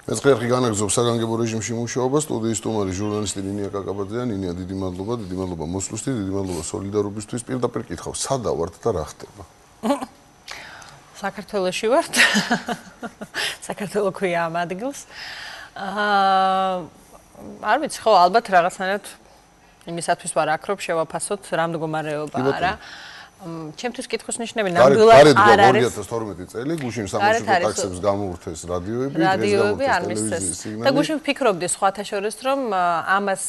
მეცხრე არხი განაგრძობს საგანგებო რეჟიმში მუშაობას. სტუდიის სტუმარი ჟურნალისტი ნინია კაკაბაძეა. ნინია, დიდი მადლობა მოსვლისთვის, დიდი მადლობა სოლიდარობისთვის. პირდაპირ კითხავ, სადა ვართ და რა ხდება? საქართველოში ვართ. საქართველო ქვია ამ ადგილს. არ ვიცი, ხო, ალბათ რაღაცნაირად იმისათვის ვარ აქ, რომ შევაფასოთ რა მდგომარეობა არა. ჩემთვის კითხვის ნიშნები ნამდვილად არ არის. 2012 წელი გუშინ სამუშაო ტაქსებს გამოურთეს რადიოები არ მისცეს. და გუშინ ვფიქრობდი სხვათა შორის, რომ ამას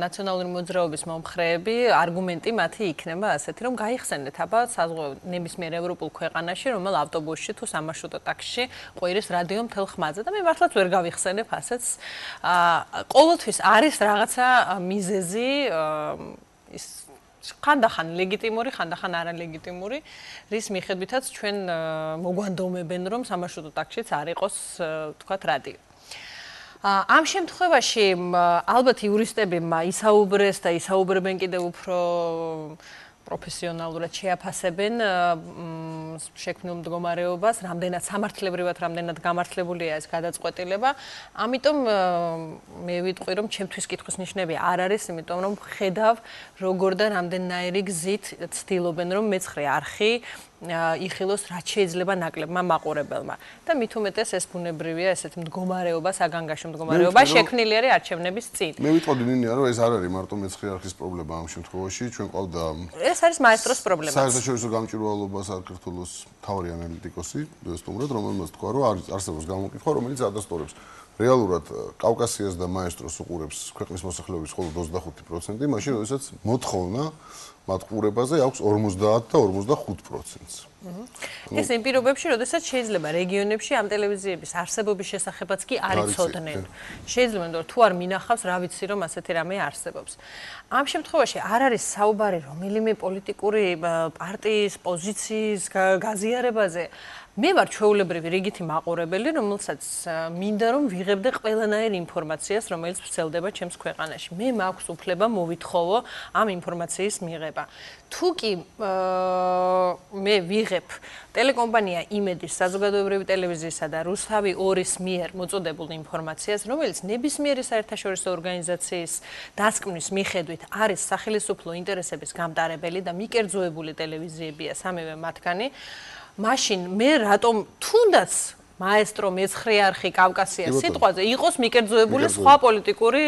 ნაციონალური მოძრაობის მომხრეები არგუმენტი მათი იქნება ასეთი, რომ გაიხსენეთ აბა საზღვაო ნებისმიერ ევროპულ ქვეყანაში, რომელ ავტობუსში თუ სამარშრუტო ტაქსში ყვირის რადიო მთელ ხმაზე და მე მართლაც ვერ გავიხსენებ ასეთს. ყოველთვის არის რაღაცა მიზეზი ის ხანდახან ლეგიტიმური, ხანდახან არალეგიტიმური, რის მიხედვითაც ჩვენ მოგვანდომებენ, რომ სამარშრუტო ტაქსშიც არ იყოს, თქვათ, რადიო. ამ შემთხვევაში ალბათ იურისტები ისაუბრეს და ისაუბრებენ კიდევ უფრო პროფესიონალურად შეაფასებენ შექმნილ მდგომარეობას, რამდენად სამართლებრივად, რამდენად გამართლებულია ეს გადაწყვეტილება. ამიტომ მე ვიტყვი, რომ ჩემთვის კითხვის ნიშნები არ არის, იმიტომ რომ ხედავ როგორ და რამდენნაირი გზით ცდილობენ, რომ მეცხრე არხი იხილოს რაც შეიძლება ნაკლებმა მაყურებელმა. და მით უმეტეს ეს ბუნებრივია ესეთი მდგომარეობა, საგანგაშო მდგომარეობა შექმნილი არის არჩევნების წინ. მე ვიტყოდი ნინია, რომ ეს არ არის მარტო მეცხრე არხის პრობლემა ამ შემთხვევაში, ჩვენ ყავდა ეს არის მაესტროს პრობლემა. საერთაშორისო გამჭვირვალობა საქართველოს მთავარი ანალიტიკოსი, სტუმრად, რომელმაც თქვა, რომ არსებობს გამოკითხვა, რომელიც ადასტურებს. რეალურად კავკასიას და მაესტროს უყურებს ქვეყნის მოსახლეობის მხოლოდ 25%, მაშინ როდესაც მოთხოვნა მათ ყურებაზე აქვს 50 და 45%. ეს იმ პირობებში, როდესაც შეიძლება რეგიონებში ამ ტელევიზიების არსებობის შესახებაც კი არ იცოდნენ. შეიძლება რომ თუ არ მინახავს, რა ვიცი რომ ასეთი რამე არსებობს. ამ შემთხვევაში არ არის საუბარი რომელიმე პოლიტიკური პარტიის პოზიციის გაზიარებაზე. მე ვარ ჩვეულებრივი რიგითი მაყურებელი, რომელსაც მინდა რომ ვიღებდე ყველანაირ ინფორმაციას, რომელიც ვრცელდება ჩემს ქვეყანაში. მე მაქვს უფლება მოვითხოვო ამ ინფორმაციის მიღება. თუ კი მე ვიღებ ტელეკომპანია იმედის საზოგადოებრივი ტელევიზიისა და რუსთავი 2-ის მიერ მოწოდებულ ინფორმაციას, რომელიც ნებისმიერი საერთაშორისო ორგანიზაციის დასკვნის მიხედვით არის სახელმწიფო ინტერესების გამტარებელი და მიკერძოებული ტელევიზიებია სამივე მათგანი, მაშინ მე რატომ თუნდაც მაესტრო მეცხრე არხი კავკასიას სიტყვაზე იყოს მიკერძოებული სხვა პოლიტიკური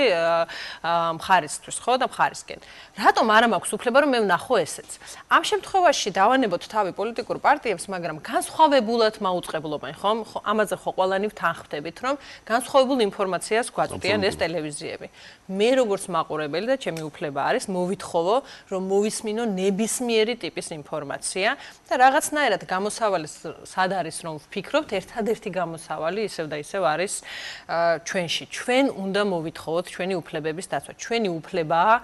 მხარისთვის, ხო და მხარისკენ. რატომ არა მაქვს უფლება რომ მე ვნახო ესეც? ამ შემთხვევაში დავანებოთ თავი პოლიტიკურ პარტიებს, მაგრამ განსხვავებულად მაუწყებლობენ, ხო? ამაზე ხო ყველანი ვთანხმდებით, რომ განსხვავებულ ინფორმაციას გვაწვდიან ეს ტელევიზიები. მე როგორც მაყურებელი და ჩემი უფლება არის მოვითხოვო, რომ მოვისმინო ნებისმიერი ტიპის ინფორმაცია და რაღაცნაირად გამოსავალი სად არის რომ ვფიქრობთ, ერთადერთი გამოსავალი ისევ და ისევ არის ჩვენში. ჩვენ უნდა მოვითხოვოთ ჩვენი უფლებების დაცვა. ჩვენი უფლებაა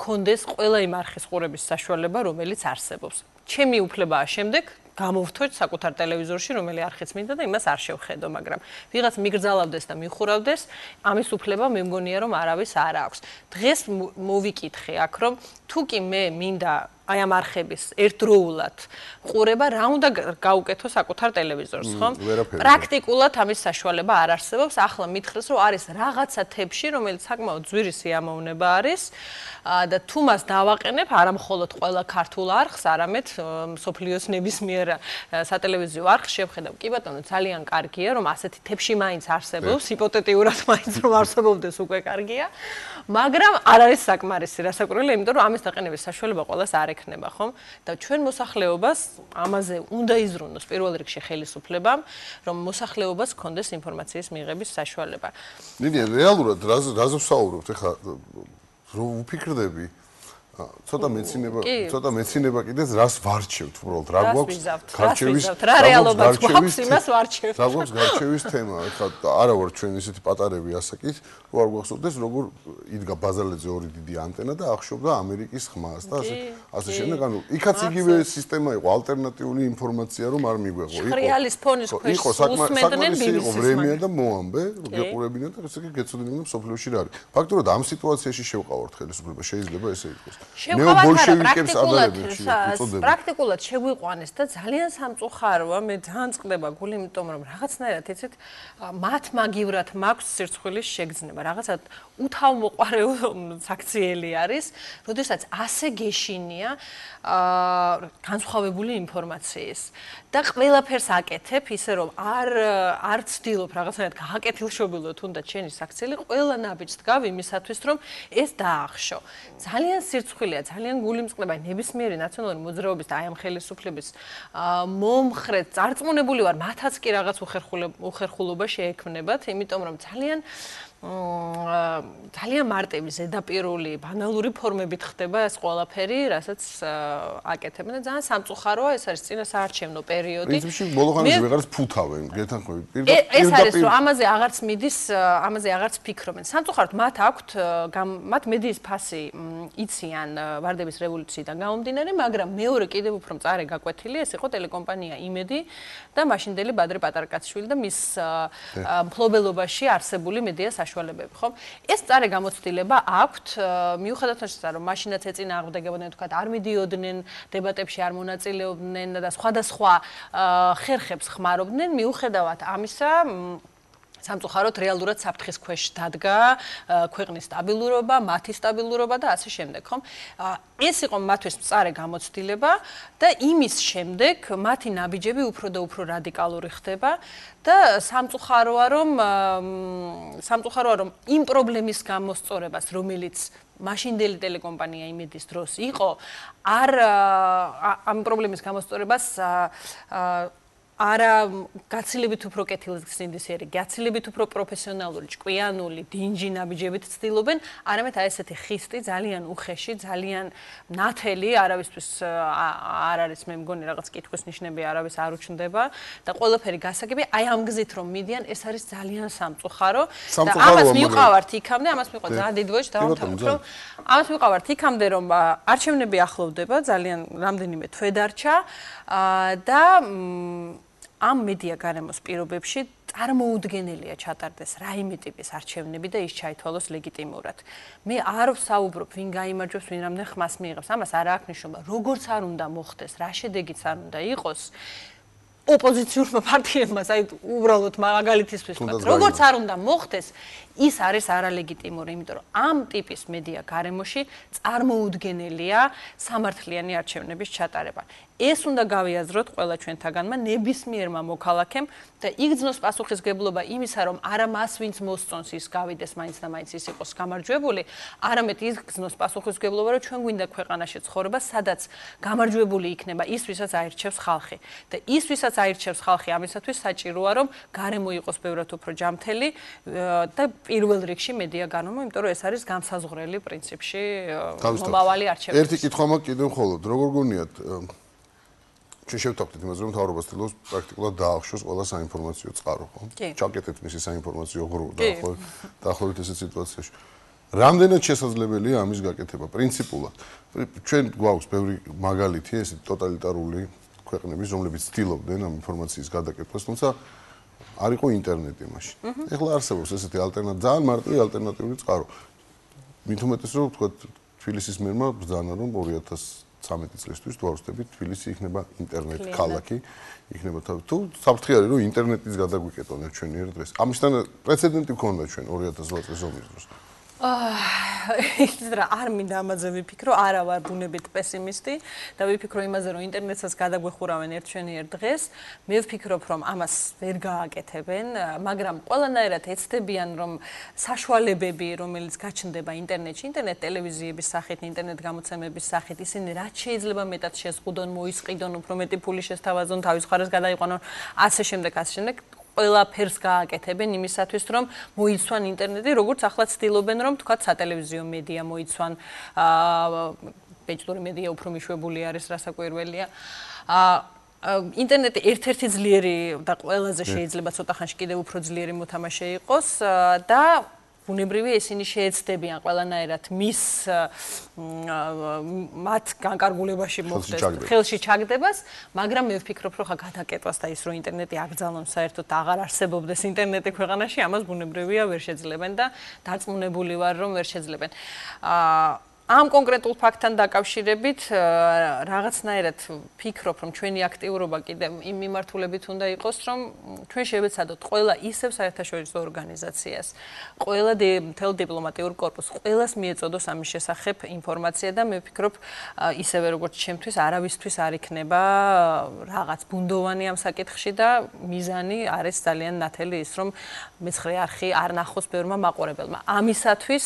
გქონდეს ყველა იმ არხის ყურების საშუალება, რომელიც არსებობს. ჩემი უფლებაა შემდეგ გამოვთქვით საკუთარ ტელევიზორში, რომელი არხიც მინდა და იმას არ შევხედო, მაგრამ ვიღაც მიგრძალავდეს და მიხურავდეს, ამის უფლება მე მგონია რომ არავის არ აქვს. დღეს მოვიკითხე აქ, რომ თუ კი მე მინდა აი ამ არხების ერთდროულად ყურება, რა უნდა გაუკეთო საკუთარ ტელევიზორს, ხო? პრაქტიკულად ამის საშუალება არ არსებობს. ახლა მითხრეს, რომ არის რაღაცა თებში, რომელიც საკმაოდ ძვირი სიამოვნება არის და თუ მას დავაყენებ, არა მხოლოდ ყველა ქართულ არხს, არამედ მსოფლიოს ნებისმიერ სატელევიზიო არხს შევხედავ. კი ბატონო, ძალიან კარგია, რომ ასეთი თებში მაინც არსებობს, ჰიპოთეტიურად მაინც რომ არსებობდეს უკვე კარგია, მაგრამ არ არის საკმარისი რასაკვირველია, იმიტომ რომ ამის დაყენების საშუალება ყველას არ ექნება, ხომ? და ჩვენ მოსახლეობას ამაზე უნდა იზრუნოს პირველ რიგში ხელისუფლებამ, რომ მოსახლეობას ჰქონდეს ინფორმაციის მიღების საშუალება. ნინია, რეალურად რაზე ვსაუბრობთ ახლა? რო ვფიქრდები ცოტა მეცინება კიდეც რას ვარჩევთ უბრალოდ რა გვაქვს გარჩევის რა რეალობა გვაქვს იმას ვარჩევთ რა გვაქვს გარჩევის თემა ახლა არა ვარ ჩვენ ისეთი პატარები ასაკის რო არ გვახსოვდეს როგორ იდგა ბაზალეძე ორი დიდი ანტენა და ახშობდა ამერიკის ხმას და ასე შემდეგ ანუ იქაც იგივე სისტემა იყო ალტერნატიული ინფორმაცია რომ არ მიგვეღო რეალის ფონის ქვეშ უსმენდნენ BBC-ს ვრემია და მოამბე გეყურებინა და ესე იგი გეცოდინებინა სოფლიოში რა არის ფაქტურად ამ სიტუაციაში შევყავართ ხელისუფლება შეიძლება ესე იყოს ნეობოლშევიკებს ადარებენ უწოდებენ. პრაქტიკულად შეგვიყვანეს და ძალიან სამწუხაროა, მე ძალიან წყდება გული, იმიტომ რომ რაღაცნაირად იცით, მათ მაგივრად მაქვს სირცხვილის შეგრძნება. რაღაცა უთავმოყარეო საქციელი არის, როდესაც ასე გეშინია განსხვავებული ინფორმაციის და ყველაფერს აკეთებ, ისე რომ არ ცდილობ რაღაცნაირად გააკეთილშობილო თუნდაც შენი საქციელი, ყველა ნაბიჯს დგავ იმისათვის, რომ ეს დაახშო. ძალიან სირცხვილია, ძალიან გული მწყდება, ნებისმიერი ნაციონალური მოძრაობის და აი ამ ხელისუფლების მომხრე წარწმუნებული ვარ, მათაც კი რაღაც უხერხულობა შეექმნებათ, იმიტომ რომ ძალიან მარტივი, ზედაპირული, ბანალური ფორმებით ხდება ეს ყველაფერი, რასაც აკეთებენ და ძალიან სამწუხაროა, ეს არის წინასაარჩევნო პერიოდი. პრინციპში ბოლოხანში ვეღარც ფუთავენ, გეთანხმებით. ეს არის რომ ამაზე აღარც მიდის, ამაზე აღარც ფიქრობენ. სამწუხაროდ მათ აქვთ, მათ მედიის ფასი იციან ვარდების რევოლუციიდან გამომდინარე, მაგრამ მეორე კიდევ უფრო მწარე გაკვეთილი ეს იყო ტელეკომპანია იმედი და მაშინდელი ბადრე პატარკაცშვილი და მის მფლობელობაში არსებული მედია საშუალებები, ხო? ეს მწარე გამოცდილება აქვთ, მიუხედავად იმისა, რომ მაშინაც ეწინააღმდეგებოდნენ, თქვათ, არ მიდიოდნენ დებატებში, არ მონაწილეობდნენ და სხვადასხვა ხერხებს ხმარობდნენ, მიუხედავად ამისა სამწუხაროდ რეალურად საფრთხის ქვეშ დადგა ქვეყნის სტაბილურობა, მათი სტაბილურობა და ასე შემდეგ, ხომ? ეს იყო მათთვის მწარე გამოცდილება და იმის შემდეგ მათი ნაბიჯები უფრო და უფრო რადიკალური ხდება და სამწუხაროა რომ იმ პრობლემის გამოსწორებას, რომელიც მაშინდელი ტელეკომპანია იმედის დროს იყო, ამ პრობლემის გამოსწორებას არა გაცილებით უფრო კეთილსინდისიერი, გაცილებით უფრო პროფესიონალური, ჭკვიანული, დინჯი ნაბიჯებით ცდილობენ, არამედ აი ესეთი ხისტი, ძალიან უხეში, ძალიან ნათელი, არავისთვის არ არის, მე მგონი რაღაც კითხვის ნიშნები არავის არ უჩნდება და ყველაფერი გასაგები, აი ამ გზით რომ მიდიან, ეს არის ძალიან სამწუხარო და ამას მივყავართ იქამდე, ამას მივყავ ძალიან დიდ ვოჭ დავამთავრებ, რომ ამას მივყავართ იქამდე, რომ არჩევნები ახლოვდება, ძალიან რამდენიმე თვე დარჩა და ამ მედია გარემოს პირობებში წარმოუდგენელია ჩატარდეს რაიმე ტიპის არჩევნები და ის ჩაითვალოს ლეგიტიმურად. მე არ ვსაუბრობ, ვინ გაიმარჯვებს, ვინ რამდენ ხმას მიიღებს. ამას არ აქვს მნიშვნელობა, როგორც არ უნდა მოხდეს, რა შედეგიც არ უნდა იყოს. ოპოზიციურმა პარტიებმა, აი უბრალოდ მაგალითისთვის ვთქვათ, როგორც არ უნდა მოხდეს, ის არის არალეგიტიმური, იმიტომ რომ ამ ტიპის მედია გარემოში წარმოუდგენელია სამართლიანი არჩევნების ჩატარება. ეს უნდა გავიაზროთ ყველა ჩვენთაგანმა, ნებისმიერმა მოქალაქემ და იგრძნოს პასუხისმგებლობა იმისა, რომ არა მას, ვინც მოსწონს, ის გავიდეს მაინც და მაინც ის იყოს გამარჯვებული, არამედ იგრძნოს პასუხისმგებლობა, რომ ჩვენ გვინდა ქვეყანაში ცხოვრება, სადაც გამარჯვებული იქნება ის, ვისაც აირჩევს ხალხი. და ის, ვისაც აირჩევს ხალხი, ამისათვის საჭიროა, რომ გარემო იყოს ბევრად უფრო ჯამთელი და პირველ რიგში მედია გარემო, იმიტომ რომ ეს არის განსაზღვრელი პრინციპში მომავალი არჩევნების. ერთი კითხვა მაქვს კიდევ მხოლოდ, როგორ გონიათ ჩვენ შევთავაზეთ იმას, რომ მთავრობა ცდილობს პრაქტიკულად დაახშოს ყველა საინფორმაციო წყარო, ხო? ჩაკეტეთ მისი საინფორმაციო ღრუ დაახლოებით ესეთ სიტუაციაში. რამდენად შესაძლებელია ამის გაკეთება პრინციპულად? ჩვენ გვაქვს ბევრი მაგალითი, ეს ტოტალიტარული ქვეყნების, რომლებიც ცდილობდნენ ამ ინფორმაციის გადაკეთებას, თუმცა არ იყო ინტერნეტი მაშინ. ეხლა არსებობს ესეთი ძალიან მარტივი ალტერნატიული წყარო. მით უმეტეს რომ თქვა თბილისის მერმა ბრძანა რომ 2013 წლისთვის თუ არ ვსწრებით, თბილისი იქნება ინტერნეტ ქალაქი, იქნება თავი. თუ საფრთხე არის რომ ინტერნეტის გადაგვიკეტონებთ ჩვენ ერთ დღეს. ამისთან პრეცედენტი გქონდა ჩვენ 2008 წლის ომის დროს. იცით რა, არ მინდა ამაზე ვიფიქრო, არა ვარ ბუნებით პესიმისტი და ვიფიქრო იმაზე, რომ ინტერნეტსაც გადაგვეხურავენ ერთ დღეს. მე ვფიქრობ, რომ ამას ვერ გააკეთებენ, მაგრამ ყველანაირად ეცდებიან, რომ საშუალებები, რომელიც გაჩნდება ინტერნეტში, ინტერნეტ ტელევიზიების სახით, ინტერნეტ გამოცემების სახით, ისინი რაც შეიძლება მეტად შეზღუდონ, მოისყიდონ, უფრო მეტი ფული შესთავაზონ, თავის მხარეს გადაიყვანონ, ასე შემდეგ. ყველაფერს გააკეთებენ იმისათვის, რომ მოიცვან ინტერნეტი, როგორც ახლა ცდილობენ, რომ თქვათ სატელევიზიო მედია მოიცვან, ბეჭდური მედია უფრო მიშვებული არის, რასაკვირველია. ინტერნეტი ერთ-ერთი ძლიერი და ყველაზე შეიძლება ცოტა ხანში კიდევ უფრო ძლიერი მოთამაშე იყოს და ბუნებრივია ისინი შეეცდებიან ყველანაირად მათ განკარგულებაში მოხდეს ხელში ჩაგდებას, მაგრამ მე ვფიქრობ, რომ ხა გადაკეთებას და ის რომ ინტერნეტი აკრძალონ საერთოდ აღარ არსებობდეს ინტერნეტი ქვეყანაში, ამას ბუნებრივია ვერ შეძლებენ და დარწმუნებული ვარ, რომ ვერ შეძლებენ. ამ კონკრეტულ ფაქტთან დაკავშირებით რაღაცნაირად ფიქრობ, რომ ჩვენი აქტიურობა კიდე იმ მიმართულებით უნდა იყოს, რომ ჩვენ შევეცადოთ ყველა ისევ საერთაშორისო ორგანიზაციას, ყველა მთელ დიპლომატიურ კორპუსს, ყველას მიეწოდოს ამის შესახებ ინფორმაცია და მე ვფიქრობ, ისევე როგორც ჩემთვის, არავისთვის არ იქნება რაღაც ბუნდოვანი ამ საკითხში და მიზანი არის ძალიან ნათელი ის, რომ მეცხრე არხი არ ნახოს ბევრმა მაყურებელმა. ამისათვის,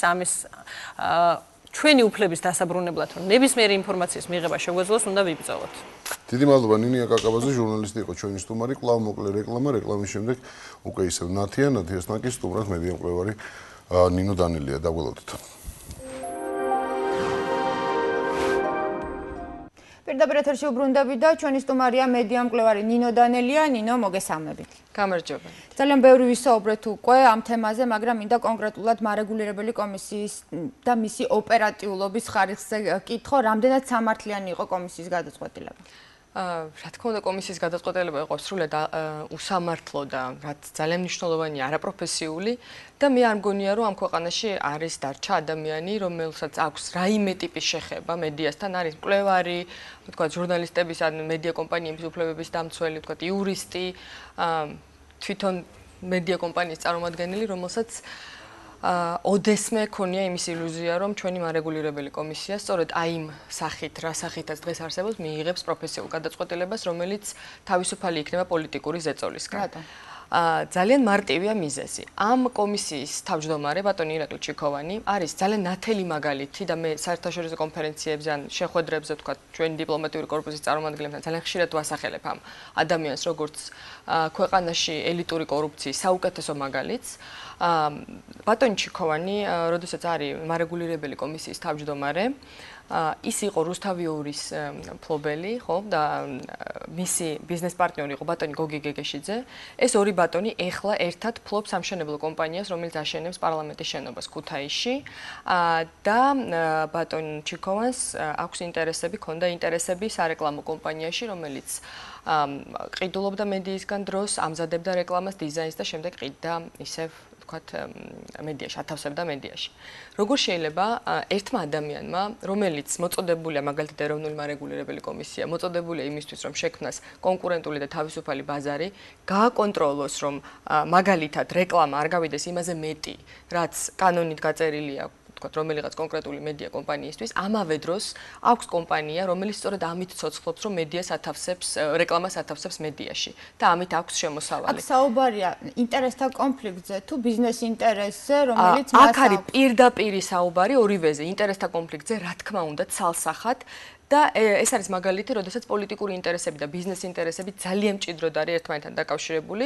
ჩვენი უფლების დასაბრუნებლად, რომ ნებისმიერი ინფორმაციის მიღება შეგვეძლოს, უნდა ვიბრძოლოთ. დიდი მადლობა ნინია კაკაბაძე, ჟურნალისტი იყო ჩვენი სტუმარი, კვლავ მოკლე რეკლამა, რეკლამის შემდეგ უკვე ისევ ნათიას ნაკის სტუმრად მედია მკვლევარი ნინო დანელია, დაგველოდეთ. პირდაპირ ეთერში უბრუნდები და ჩვენი სტუმარია მედია მკვლევარი ნინო დანელია. ნინო, მოგესალმებით. გამარჯობა. ძალიან ბევრი ვისაუბრეთ უკვე ამ თემაზე, მაგრამ მინდა კონკრეტულად მარეგულირებელი კომისიის და მისი ოპერატიულობის ხარისხზე კითხო, რამდენად სამართლიანი იყო კომისიის გადაწყვეტილება? რა თქმა უნდა, კომისიის გადაწყვეტილება იყო სრულად უსამართლო და რაც ძალიან მნიშვნელოვანია, არაპროფესიული და მე არ მგონია, რომ ამ ქვეყანაში არის დარჩა ადამიანი, რომელსაც აქვს რაიმე ტიპის შეხება მედიასთან, არის მკვლევარი, თქვა ჟურნალისტების ან მედია კომპანიების უფლებების დამცველი, თქვა იურისტი, თვითონ მედია კომპანიის წარმომადგენელი, რომელსაც ოდესმე ქონია იმის ილუზია, რომ ჩვენი მარეგულირებელი კომისია სწორედ აი იმ სახით, რა სახითაც დღეს არსებობს, მიიღებს პროფესიულ გადაწყვეტილებას, რომელიც თავისუფალი იქნება პოლიტიკური ზეწოლისგან. ძალიან მარტივია მიზეზი. ამ კომისიის თავმჯდომარე ბატონი ირაკლი ჩიქოვანი არის ძალიან ნათელი მაგალითი და მე საერთაშორისო კონფერენციებზე ან შეხვედრებზე ვთქვა, ჩვენი დიპლომატიური კორპუსის წარმომადგენლებთან ძალიან ხშირად ვასახელებ ამ ადამიანს, როგორც ქვეყანაში ელიტური კორუფციის საუკეთესო მაგალითს. ბატონი ჩიქოვანი, როდესაც არის მარეგულირებელი კომისიის თავმჯდომარე, ის იყო რუსთავიურის მფლობელი, ხო, და მისი ბიზნეს პარტნიორი იყო ბატონი გოგი გეგეშიძე. ეს ორი ბატონი ეხლა ერთად ფლობს სამშენებლო კომპანიას, რომელიც აშენებს პარლამენტის შენობას ქუთაისში და ბატონ ჩიქოვანს აქვს ინტერესები, ჰქონდა ინტერესები სარეკლამო კომპანიაში, რომელიც ყიდულობდა მედიისგან დროს, ამზადებდა რეკლამას, დიზაინს და შემდეგ ყიდდა ისევ ვთქვათ მედიაში, ათავსებდა მედიაში. როგორ შეიძლება ერთმა ადამიანმა, რომელიც მოწოდებულია მაგალითად ეროვნული მარეგულირებელი კომისია, მოწოდებულია იმისთვის, რომ შექმნას კონკურენტული და თავისუფალი ბაზარი, გააკონტროლოს, რომ მაგალითად რეკლამა არ გავიდეს იმაზე მეტი, რაც კანონით გაწერილია, თქვათ, რომელიღაც კონკრეტული მედია კომპანიისთვის, ამავე დროს აქვს კომპანია, რომელიც სწორედ ამით ცოცხლობს, რომ მედიას ათავსებს, რეკლამას ათავსებს მედიაში და ამით აქვს შემოსავალი. აქ საუბარია ინტერესთა კონფლიქტზე თუ ბიზნეს ინტერესზე, რომელიც მას აქ არის პირდაპირი საუბარი ორივეზე, ინტერესთა კონფლიქტზე, რა თქმა უნდა, ცალსახად. და ეს არის მაგალითი, როდესაც პოლიტიკური ინტერესები და ბიზნეს ინტერესები ძალიან მჭიდროდ არის ერთმანეთთან დაკავშირებული,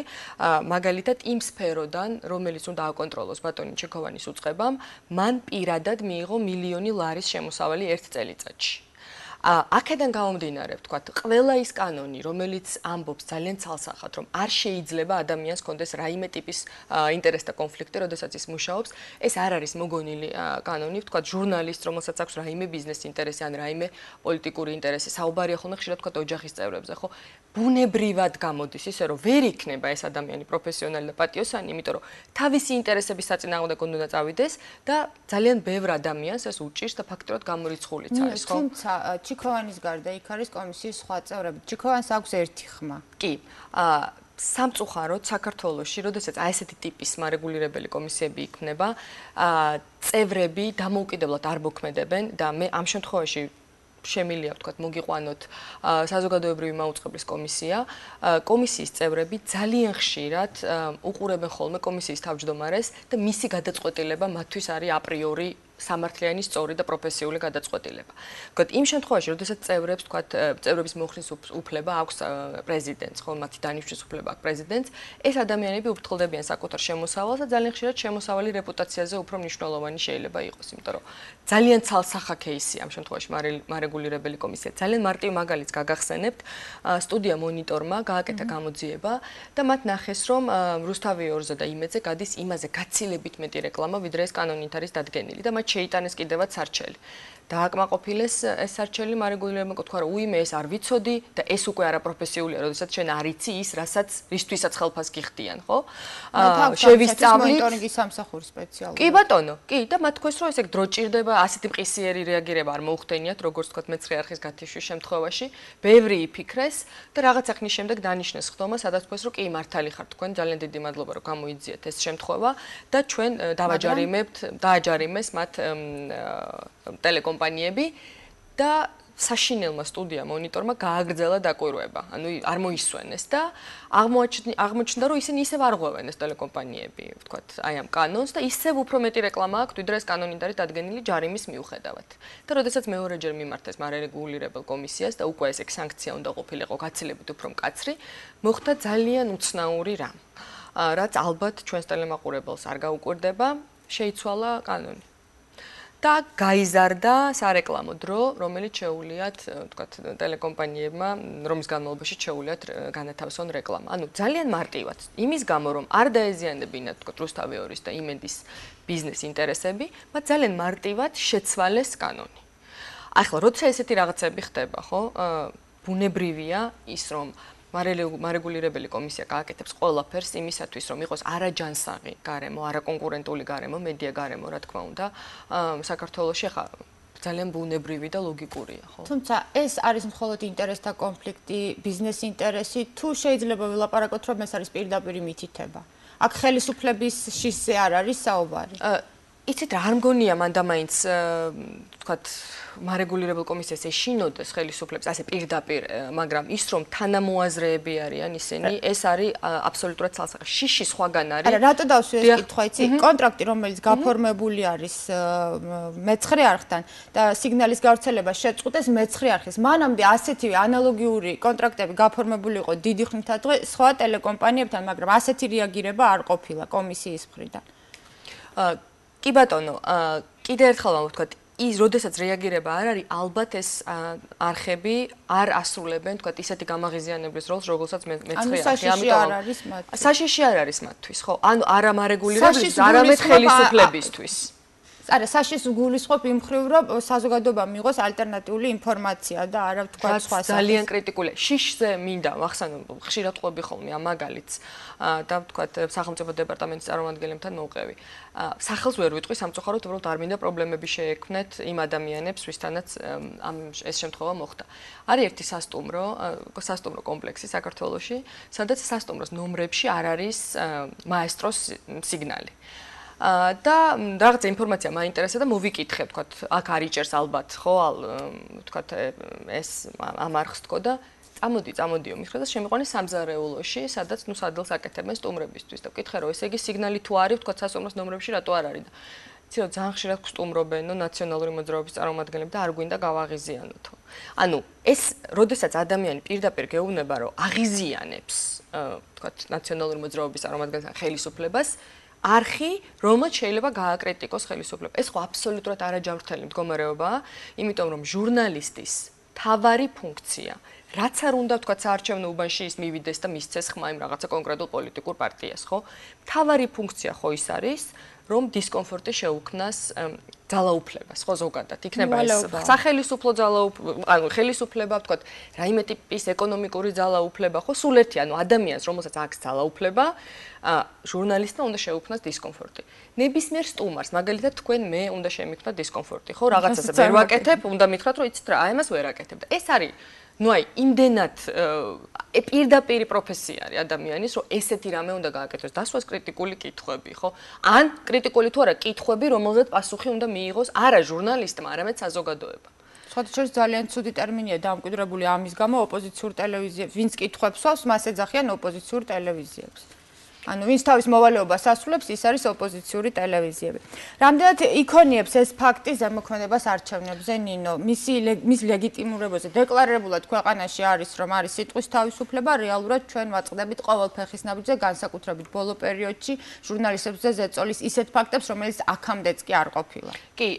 მაგალითად იმ სფეროდან, რომელიც უნდა აკონტროლოს ბატონი ჩიქოვანის უწყებამ, მან პირადად მიიღო მილიონი ლარის შემოსავალი ერთ წელიწადში. აქედან გამომდინარე, ვთქვათ, ყველა ის კანონი, რომელიც ამბობს ძალიან ცალსახად, რომ არ შეიძლება ადამიანს კონდეს რაიმე ტიპის ინტერესთა კონფლიქტი, როდესაც ის მუშაობს, ეს არ არის მოგონილი კანონი, ვთქვათ, ჟურნალისტ, რომელსაც აქვს რაიმე ბიზნეს ინტერესი ან რაიმე პოლიტიკური ინტერესი, საუბარია ხოლმე ხშირად ვთქვათ ოჯახის წევრებზე, ხო? ბუნებრივად გამოდის ისე, რომ ვერ იქნება ეს ადამიანი პროფესიონალი და პატიოსანი, იმიტომ რომ თავისი ინტერესების საწინააღმდეგოდ უნდა წავიდეს და ძალიან ბევრ ადამიანს ეს უჭირს და ფაქტობრივად გამორიცხულიც არის, ხო? თუმცა ჩიქოვანის გარდა იქ არის კომისიის სხვა წევრები. ჩიქოვანს აქვს ერთი ხმა. კი. სამწუხაროდ საქართველოში, როდესაც აი ესეთი ტიპის მარეგულირებელი კომისიები იქმნება, წევრები დამოუკიდებლად არ მოქმედებენ და მე ამ შემთხვევაში შემილია, ვთქვათ, მოგიყვანოთ საზოგადოებრივი მაუწყებლის კომისია. კომისიის წევრები ძალიან ხშირად უყურებენ ხოლმე კომისიის თავმჯდომარეს და მისი გადაწყვეტილება მათთვის არის აპრიორი სამართლიანი, სწორი და პროფესიული გადაწყვეტილება. ვთქვათ, იმ შემთხვევაში, როდესაც წევრებს, ვთქვათ, წევრების მოხსნის უფლება აქვს პრეზიდენტს, ხო, მათი დანიშვნის უფლება აქვს პრეზიდენტს, ეს ადამიანები უფრთხილდებიან საკუთარ შემოსავალს და ძალიან ხშირად შემოსავალი რეპუტაციაზე უფრო მნიშვნელოვანი შეიძლება იყოს, იმიტომ რომ ძალიან ცალსახა кейსია ამ შემთხვევაში მარეგულირებელი კომისია. ძალიან მარტივ მაგალითს გაგახსენებთ, სტუდია მონიტორმა გააკეთა გამოძიება და მათ ნახეს, რომ რუსთავიორზე და იმედზე გადის იმაზე გაცილებით მეტი რეკლამა, ვიდრე ეს კანონით არის დადგენილი და მათ შეიტანეს კიდევაც სარჩელი. დააკმაყოფილეს ეს სარჩელი მარეგულირებელმა თქვა რომ უიმე ეს არ ვიცოდი და ეს უკვე არაპროფესიულია, როდესაც შენ არ იცი ის, რისთვისაც ხელფას გიხდიან, ხო? შევისწავლით მონიტორინგის სამსახური სპეციალური. კი ბატონო, კი და მათ თქვეს რომ ესე დრო ჭირდება, ასეთი მყისიერი რეაგირება არ მოუხდენიათ, როგორც თქვა მეცხრე არხის გათიშვის შემთხვევაში, ბევრი იფიქრეს და რაღაცა ხნის შემდეგ დანიშნეს ხდომა, სადაც თქვეს რომ კი მართალი ხართ თქვენ, ძალიან დიდი მადლობა რომ გამოიძიეთ ეს შემთხვევა და ჩვენ დააჯარიმეს მათ ტელეკომპანიები და საშინელმა სტუდია მონიტორმა გააგრძელა დაკვირვება. ანუ არ მოისვენეს და აღმოჩნდა რომ ისინი ისევ არ ღვევენ ეს ტელეკომპანიები, ვთქვათ, აი ამ კანონს და ისევ უფრო მეტი რეკლამა აქვს, ვიდრე ეს კანონით არის დადგენილი ჯარიმის მიუხედავად. და როდესაც მეორეჯერ მიმართეს მარეგულირებელ კომისიას და უკვე ეს სანქცია უნდა ყოფილიყო გაცილებით უფრო მკაცრი, მოხდა ძალიან უცნაური რამ. რაც ალბათ ჩვენს ტელემაყურებელს არ გაუკვირდება, შეიცვალა კანონი. და გაიზარდა სარეკლამო დრო, რომელიც შეუულიათ, ვთქვათ, ტელეკომპანიებმა, რომის განმავლობაში შეუულიათ განათავსონ რეკლამა. ანუ ძალიან მარტივად, იმის გამო, რომ არ დაეზიანებინათ, ვთქვათ, რუსთავი 2-ის და იმენდის ბიზნეს ინტერესები, მათ ძალიან მარტივად შეცვალეს კანონი. ახლა, როცა ესეთი რაღაცები ხდება, ხო, ბუნებრივია ის, რომ მარეგულირებელი კომისია გააკეთებს ყველაფერს იმისათვის, რომ იყოს არაჯანსაღი გარემო, არაკონკურენტული გარემო, მედია გარემო, რა თქმა უნდა, საქართველოში ახლა ძალიან ბუნებრივი და ლოგიკურია, ხო? თუმცა ეს არის მხოლოდ ინტერესთა კონფლიქტი, ბიზნეს ინტერესი, თუ შეიძლება ვილაპარაკოთ, რომ ეს არის პირდაპირი მითითება. აქ ხელისუფლების შიშზე არ არის საუბარი. იცით რა, არ მგონია მანდამაინც, ვთქვათ, მარეგულირებელ კომისიას ეშინოდეს ხელისუფლებს ასე პირდაპირ, მაგრამ ის რომ თანამოაზრეები არიან ისინი, ეს არის აბსოლუტურად ცალსახე. შიში სხვაგან არის. არა, რატო დავსვი ეს კითხვა, იცი? კონტრაქტი, რომელიც გაფორმებული არის მეცხრე არხთან და სიგნალის გავრცელება შეწყვეტეს მეცხრე არხის. მანამდე ასეთივე ანალოგიური კონტრაქტები გაფორმებული იყო დიდი ხნითადღე სხვა ტელეკომპანიებთან, მაგრამ ასეთი რეაგირება არ ყოფილა კომისიის მხრიდან. კი ბატონო, კიდე ერთხელ ვთქვათ, ის როდესაც რეაგირება არ არის, ალბათ ეს არხები არ ასრულებენ, ვთქვათ, ისეთი გამაღიზიანებლის როლს, რომელსაც მეცხრე არხი. ამიტომ საშიში არ არის მათთვის, ხო? ანუ არა მარეგულირებლის, არამედ ხელისუფლებისთვის. არა, საშიშს გულისხმობ იმ მხრივ, რომ საზოგადოებამ მიიღოს ალტერნატიული ინფორმაცია და არა ვთქვათ სხვა სახის. ძალიან კრიტიკულია. შიშზე მინდა ვახსენო, ხშირად ყვები ხოლმე ამ მაგალითს და ვთქვათ, სახელმწიფო დეპარტამენტის წარმომადგენლებთან მოვყევი. სახელს ვერ ვიტყვი სამწუხაროდ, უბრალოდ არ მინდა პრობლემები შეექმნეთ იმ ადამიანებს, ვისთანაც ეს შემთხვევა მოხდა. არის ერთი სასტუმრო კომპლექსი საქართველოში, სადაც სასტუმროს ნომრებში არ არის მაესტროს სიგნალი. და რაღაცა ინფორმაცია მაინტერესა და მოვიკითხე, ვთქვათ, აქ არიჭერს ალბათ, ხო, ვთქვათ, ეს ამ არხს თქო და წამოდიო მითხრა და შემიყვანეს სამზარეულოში, სადაც ნუ სადელს აკეთებენ სტუმრებისთვის და ვკითხე, რომ ესე იგი სიგნალი თუ არის, ვთქვათ, სასტუმროს ნომრებში რატო არ არის და იცი რომ ძალიან ხშირად გსტუმრობენო ნაციონალური მოძრაობის წარმომადგენლები და არ გვინდა გავაღიზიანოთო. ანუ ეს, როდესაც ადამიანი პირდაპირ გეუბნება, რომ აღიზიანებს, ვთქვათ, ნაციონალური მოძრაობის წარმომადგენელს ხელისუფლებას, არხი, რომელსაც შეიძლება გააკრიტიკოს ხელისუფლება. ეს ხო აბსოლუტურად არაჯანმრთელი მდგომარეობაა, იმიტომ რომ ჟურნალისტის თავარი ფუნქცია, რაც არ უნდა ვთქვათ საარჩევნო უბანში ის მივიდეს და მისცეს ხმა იმ რაღაცა კონკრეტულ პოლიტიკურ პარტიას, ხო? თავარი ფუნქცია ხო ის არის, რომ დისკომფორტი შეუქმნას ძალაუფლებას, ხო ზოგადად. იქნება ეს სახელისუფლო ძალაუფლება, ანუ ხელისუფლება, ვთქვათ, რაიმე ტიპის ეკონომიკური ძალაუფლება, ხო, სულ ერთი, ანუ ადამიანს, რომელსაც აქვს ძალაუფლება, ჟურნალისტმა უნდა შეუქმნას დისკომფორტი. ნებისმიერ სტუმარს, მაგალითად, თქვენ მე უნდა შემიქმნათ დისკომფორტი, ხო, რაღაცაზე ვერ ვაკეთებ, უნდა მითხრათ, რომ იცით რა, აი ამას ვერ აკეთებ და ეს არის ну აი იმდენად პირდაპირი პროფესია არის ადამიანის, რომ ესეთი რამე უნდა გააკეთოს. დასვას კრიტიკული კითხვები, ხო? ან კრიტიკული თუ არა კითხვები, რომელზეც პასუხი უნდა მიიღოს არა ჟურნალისტმა, არამედ საზოგადოებამ. სხვადასხვა ძალიან ცუდი ტერმინია დამკვიდრებული ამის გამო ოპოზიციურ ტელევიზიებს, ვინც კითხვებს სვავს, მას ეძახიან ოპოზიციურ ტელევიზიებს. ანუ ვინც თავის მოვალეობას ასრულებს, ის არის ოპოზიციური ტელევიზიები. რამდენად იქონიებს ეს ფაქტი ზემოქმედებას არჩევნებზე, ნინო? მის ლეგიტიმურობაზე დეკლარირებულად ქვეყანაში არის, რომ არის სიტყვის თავისუფლება, რეალურად ჩვენ ვაწყდებით ყოველ ფეხის ნაბიჯზე, განსაკუთრებით ბოლო პერიოდში ჟურნალისტებზე ზეწოლის ისეთ ფაქტებს, რომელიც აქამდეც კი არ ყოფილა. კი,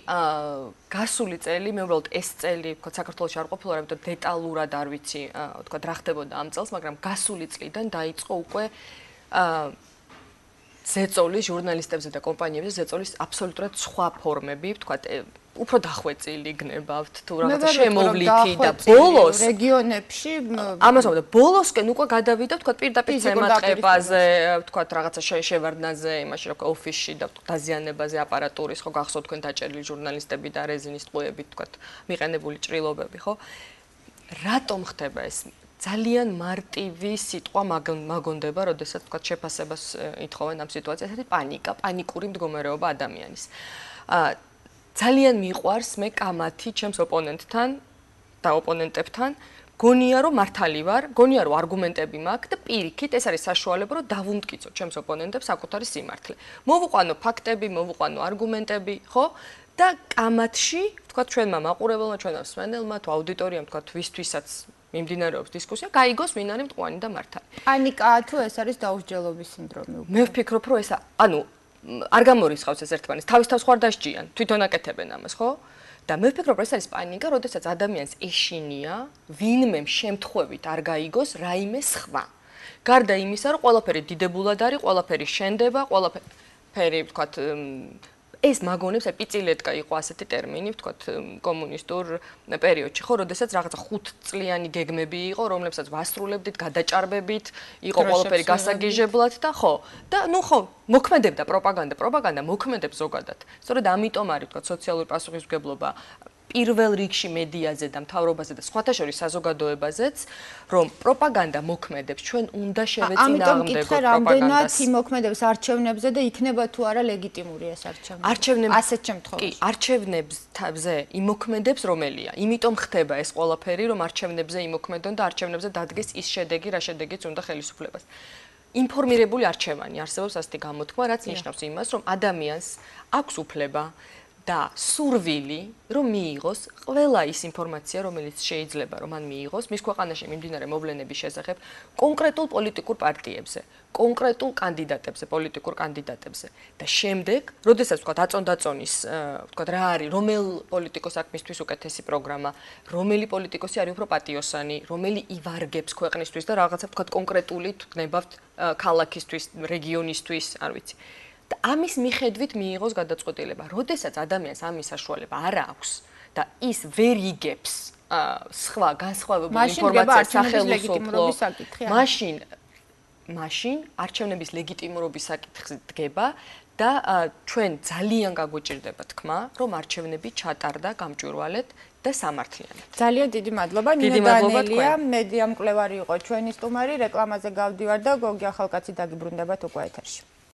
გასული წელი, მე უბრალოდ ეს წელი, ვთქვათ, საქართველოში არ ყოფილა, რამე დეტალურად არ ვიცი, ვთქვათ, რა ხდებოდა ამ წელს, მაგრამ გასული წლიდან დაიწყო უკვე ზეწოლის ჟურნალისტებზე და კომპანიებზე ზეწოლის აბსოლუტურად სხვა ფორმები, ვთქვათ, უფრო დახვეწილი გნებავთ თუ რაღაცა შემოვლითი და ბოლოს რეგიონებში ამას ვამბობ, ბოლოსკენ უკვე გადავიდა, ვთქვათ, პირდაპირ ზემატყებაზე, ვთქვათ, რაღაცა შევარდნაზე, იმაში რა ვქო, ოფისში და დაზიანებაზე აპარატურის, ხო, გახსოვთ თქვენ დაჭერილი ჟურნალისტები და რეზინის ტყუებით, ვთქვათ, მიყენებული ჭრილობები, ხო? რატომ ხდება ეს? ძალიან მარტივი სიტყვა მაგონდება, როდესაც თქვა შეფასებას ითხოვენ ამ სიტუაციას, ეს პანიკა, პანიკური მდგომარეობა ადამიანის. ძალიან მიყვარს მე კამათი ჩემს ოპონენტთან და ოპონენტებთან, გონია რომ მართალი ვარ, გონია რომ არგუმენტები მაქვს და პირიქით ეს არის საშუალება რომ დავუმტკიცო ჩემს ოპონენტებს საკუთარი სიმართლე. მოვუყვანო ფაქტები, მოვუყვანო არგუმენტები, ხო? და კამათში, თქვა ჩვენმა მაყურებელმა, ჩვენმა მსმენელმა, თუ აუდიტორიამ, თქვა ვისთვისაც მიმდინარეობს დისკუსია, გაიგოს ვინ არის მტკვანი და მართალი. პანიკაა თუ ეს არის დაუსჯელობის სინდრომი? მე ვფიქრობ, რომ ეს არ გამორიცხავს ეს ერთმანეთს, თავის თავს ხარ დასჯიან, თვითონ აკეთებენ ამას, ხო? და მე ვფიქრობ, ეს არის პანიკა, როდესაც ადამიანს ეშინია, ვინმე შემთხვევით არ გაიგოს რაიმე სხვა. გარდა იმისა, რომ ყველაფერი დიდებულად არის, ყველაფერი შენდება, ყველაფერი, ვთქვათ, ეს მაგონებს ეპიცილეტკა იყო ასეთი ტერმინი, ვთქვათ, კომუნისტურ პერიოდში, ხო, როდესაც რაღაცა 5 წლიანი გეგმები იყო, რომლებსაც ვასრულებდით, გადაჭარბებით, იყო ყველაფერი გასაგიჟებლად და ხო. და ნუ ხო, მოქმედებდა პროპაგანდა მოქმედებს ზოგადად. სწორედ ამიტომ არის, ვთქვათ, სოციალური პასუხისმგებლობა პირველ რიგში მედიაზე და მთავრობაზე და სხვათა შორის საზოგადოებაზეც, რომ პროპაგანდა მოქმედებს, ჩვენ უნდა შევეწინააღმდეგოთ პროპაგანდას. რამდენად იმოქმედებს არჩევნებზე და იქნება თუ არა ლეგიტიმური ეს არჩევნები? ასეთ შემთხვევაში. კი, არჩევნებზე იმოქმედებს რომელია? იმიტომ ხდება ეს ყველაფერი, რომ არჩევნებზე იმოქმედონ და არჩევნებზე დადგეს ის შედეგი, რა შედეგიც უნდა ხელისუფლებას. ინფორმირებული არჩევანი არსებობს ასეთი გამოთქმა, რაც ნიშნავს იმას, რომ ადამიანს აქვს უფლება და სურვილი, რომ მიიღოს ყველა ის ინფორმაცია, რომელიც შეიძლება რომ მან მიიღოს მის ქვეყანაში მიმდინარე მოვლენების შესახებ კონკრეტულ პოლიტიკურ პარტიებზე, კონკრეტულ კანდიდატებზე, პოლიტიკურ კანდიდატებზე და შემდეგ, როდესაც ვთქვათ აწონდაწონის, ვთქვათ რა არის, რომელ პოლიტიკოს აქვს მისთვის უკეთესი პროგრამა, რომელი პოლიტიკოსი არის უფრო პატიოსანი, რომელი ივარგებს ქვეყნისთვის და რაღაცა ვთქვათ კონკრეტული თვნებავთ ქალაქისთვის, რეგიონისთვის, არ ვიცი. და ამის მიხედვით მიიღოს გადაწყვეტილება. როდესაც ადამიანს ამის საშუალება არ აქვს და ის ვერ იგებს სხვა განსხვავებული ინფორმაციას სახელმწიფო, მაშინ არჩევნების ლეგიტიმურობის საკითხი დგება და ჩვენ ძალიან გაგვიჭირდება თქმა, რომ არჩევნები ჩატარდა გამჭვირვალედ და სამართლიანად. ძალიან დიდი მადლობა. ნინო დანელია, მედია მკვლევარი იყო ჩვენი სტუმარი, რეკლამაზე გავდივარ და გოგი ახალკაცი დაგიბრუნდებათ უკვე ეთერში.